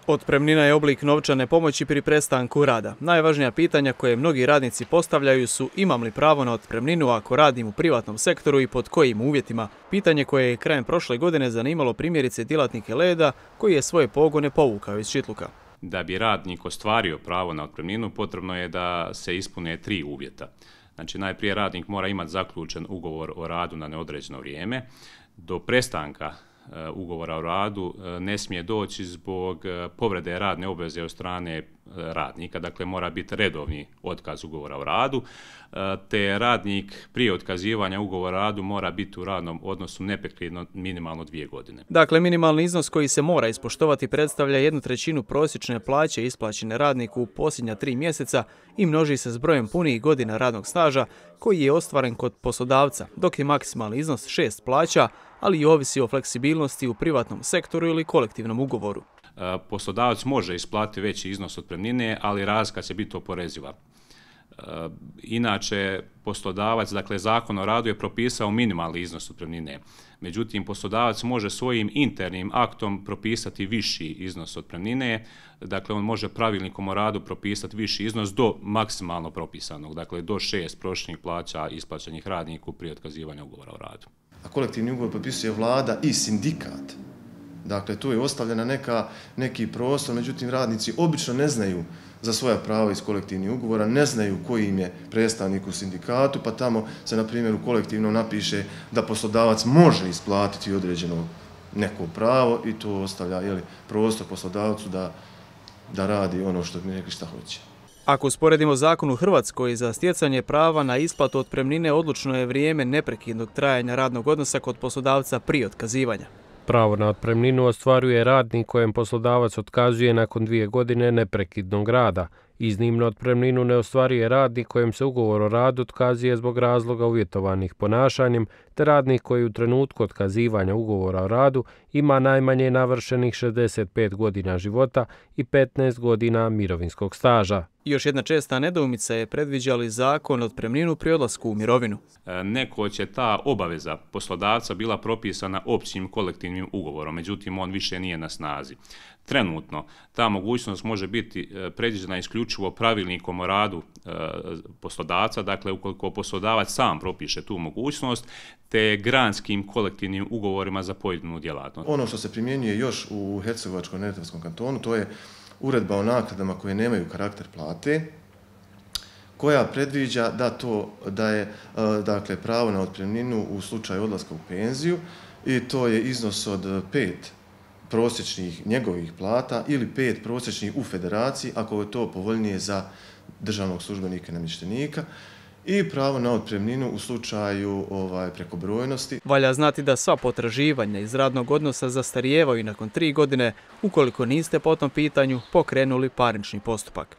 Otpremnina je oblik novčane pomoći pri prestanku rada. Najvažnija pitanja koje mnogi radnici postavljaju su imam li pravo na otpremninu ako radim u privatnom sektoru i pod kojim uvjetima. Pitanje koje je krajem prošle godine zanimalo primjerice djelatnike Leda koji je svoje pogone povukao iz Čitluka. Da bi radnik ostvario pravo na otpremninu potrebno je da se ispune 3 uvjeta. Znači najprije radnik mora imati zaključen ugovor o radu na neodređeno vrijeme. Do prestanka ugovora o radu ne smije doći zbog povrede radne obveze od strane radnika, dakle mora biti redovni otkaz ugovora o radu, te radnik prije otkazivanja ugovora o radu mora biti u radnom odnosu neprekidno minimalno 2 godine. Dakle, minimalni iznos koji se mora ispoštovati predstavlja 1/3 prosječne plaće isplaćene radniku u posljednja 3 mjeseca i množi se s brojem punih godina radnog staža koji je ostvaren kod poslodavca, dok je maksimalni iznos 6 plaća, ali i ovisi o fleksibilnosti u privatnom sektoru ili kolektivnom ugovoru. Poslodavac može isplatiti veći iznos otpremnine, ali razlika će biti oporeziva. Inače, poslodavac, dakle Zakon o radu je propisao minimalni iznos otpremnine. Međutim, poslodavac može svojim internim aktom propisati viši iznos otpremnine, dakle on može pravilnikom o radu propisati viši iznos do maksimalno propisanog, dakle do 6 prosječnih plaća isplaćenih radniku prije otkazivanja ugovora o radu. A kolektivni ugovor potpisuje vlada i sindikat. Dakle, tu je ostavljena neki prostor, međutim radnici obično ne znaju za svoja prava iz kolektivnih ugovora, ne znaju koji im je predstavnik u sindikatu, pa tamo se, na primjer, u kolektivnom napiše da poslodavac može isplatiti određeno neko pravo i to ostavlja prostor poslodavcu da radi ono što bi rekli šta hoće. Ako usporedimo zakon u Hrvatskoj, za stjecanje prava na isplatu otpremnine odlučno je vrijeme neprekidnog trajanja radnog odnosa kod poslodavca prije otkazivanja. Pravo na otpremninu ostvaruje radnik kojem poslodavac otkazuje nakon 2 godine neprekidnog rada. Iznimno otpremninu ne ostvaruje radnik kojem se ugovor o radu otkazuje zbog razloga uvjetovanih ponašanjem, te radnik koji u trenutku otkazivanja ugovora o radu ima najmanje navršenih 65 godina života i 15 godina mirovinskog staža. Još jedna česta nedoumica je predviđa li zakon otpremninu pri odlasku u mirovinu. Nekoć je ta obaveza poslodavca bila propisana općim kolektivnim ugovorom, međutim on više nije na snazi. Trenutno ta mogućnost može biti predviđena isključivo pravilnikom o radu poslodavca, dakle ukoliko poslodavac sam propiše tu mogućnost, te granskim kolektivnim ugovorima za pojedinu djelatnost. Ono što se primjenjuje još u Hercegovačko-neretvanskom kantonu, to je uredba o naknadama koje nemaju karakter plate, koja predviđa da je dakle, pravo na otpremninu u slučaju odlaska u penziju i to je iznos od 5 prosječnih njegovih plata ili 5 prosječnih u federaciji, ako je to povoljnije za državnog službenika i namještenika, i pravo na otpremninu u slučaju prekobrojnosti. Valja znati da sva potraživanja iz radnog odnosa zastarijevaju nakon 3 godine ukoliko niste po tom pitanju pokrenuli parnični postupak.